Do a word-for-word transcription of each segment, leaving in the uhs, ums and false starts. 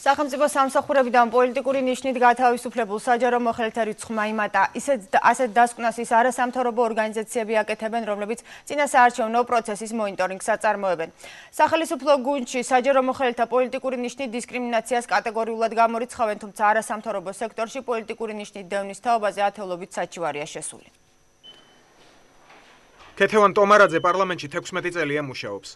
სახელმწიფო სამსახურებიდან პოლიტიკური ნიშნით გათავისუფლებულ საჯარო მოხელეთა რიცხვმა იმატა. ისეთ ასეთ დასკვნას ის არასამთავრობო ორგანიზაციები აკეთებენ, რომლებიც წინასაარჩევნო პროცესის მონიტორინგს აწარმოებენ. სახელმწიფო გუნდში საჯარო მოხელეთა პოლიტიკური ნიშნით დისკრიმინაციას კატეგორიულად გამორიცხავენ, თუმცა არასამთავრობო სექტორში პოლიტიკური ნიშნით დევნის თაობაზე ათეულობით საჩივარია შესული. ქეთევან ტომარაძე პარლამენტში თექვსმეტი წელია მუშაობს.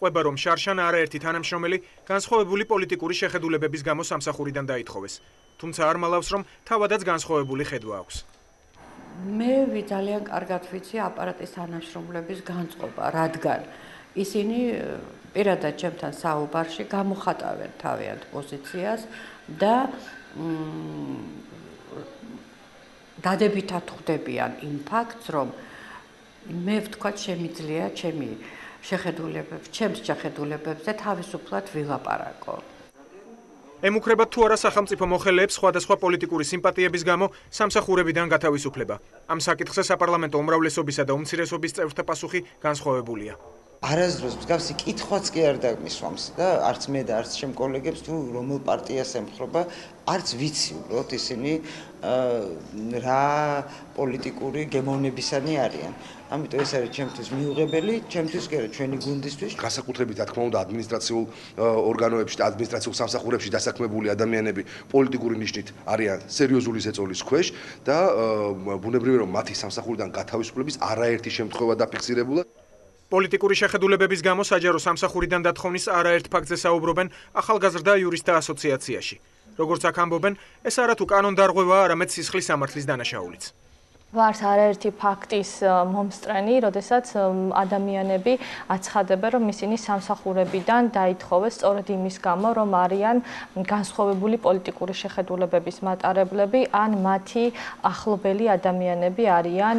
ყვება რომ შარშან არაერთი თანამშრომელი განსხვავებული პოლიტიკური შეხედულებების გამო სამსახურიდან დაითხოვეს. თუმცა არ მალავს რომ თავადაც განსხვავებული ხედვა აქვს. მე ძალიან კარგად ვიცი აპარატის თანამშრომლების განწყობა, რადგან ისინი პირადად ჩემთან საუბარში გამოხატავენ თავიანთ პოზიციას და დადებითად ხვდებიან იმ ფაქტს, რომ მე ვთქვათ შემიძლია ჩემი შეხედულებებს, ჩემს შეხედულებებზე თავისუფლად ვილაპარაკო. ემუქრებათ თუ არა სახელმწიფო მოხელეებს სხვადასხვა პოლიტიკური სიმპათიების გამო სამსახურებიდან გათავისუფლება. ამ საკითხზე საპარლამენტო უმრავლესობისა და უმცირესობის წევრთა პასუხი განსხვავებულია. არასდროს მსგავსი კითხვაც კი არ დაგმისვამს და არც მე და არც ჩემ კოლეგებს თუ რომელ პარტიას ემხრობა, არც ვიცი უბრალოდ ისინი რა პოლიტიკური გემოვნებისანი არიან. ამიტომ ეს არის ჩემთვის მიუღებელი, ჩემთვის კი არა, ჩვენი გუნდისთვის. განსაკუთრებით რა თქმა უნდა ადმინისტრაციულ ორგანოებში და ადმინისტრაციულ სამსახურებში დასაქმებული ადამიანები პოლიტიკური ნიშნით არიან სერიოზული ზეწოლის ქვეშ და ბუნებრივია რომ მათი სამსახურიდან გათავისუფლების არაერთი შემთხვევა დაფიქსირებულა. პოლიტიკური შეხედულებების გამო საჯარო სამსახურიდან დათხოვნის არაერთ ფაქტზე საუბრობენ ახალგაზრდა იურისტთა ასოციაციაში. როგორც აქ ამბობენ, ეს არა თუ კანონდარღვევაა, არამედ სისხლის სამართლის დანაშაულიც. ვართ არაერთი ფაქტის მომსწრენი, როდესაც ადამიანები აცხადებენ, რომ ისინი სამსახურებიდან დაითხოვეს სწორედ იმის გამო, რომ არიან განსხვავებული პოლიტიკური შეხედულებების მატარებლები, ან მათი ახლობელი ადამიანები არიან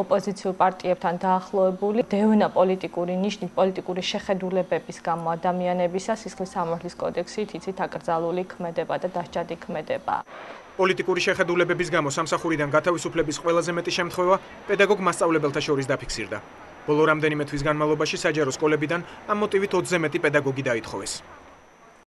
ოპოზიციურ პარტიებთან დაახლოებული. დევნა პოლიტიკური ნიშნით, პოლიტიკური შეხედულებების გამო ადამიანებისა სისხლის სამართლის კოდექსით იცით აკრძალული ქმედება და დასჯადი ქმედება. პოლიტიკური შეხედულებების გამო სამსახურიდან გათავისუფლების ყველაზე მეტი შემთხვევა პედაგოგ მასწავლებელთა შორის დაფიქსირდა. ბოლო რამდენიმე თვის განმავლობაში საჯარო სკოლებიდან ამ მოტივით ოცზე მეტი პედაგოგი დაითხოვეს.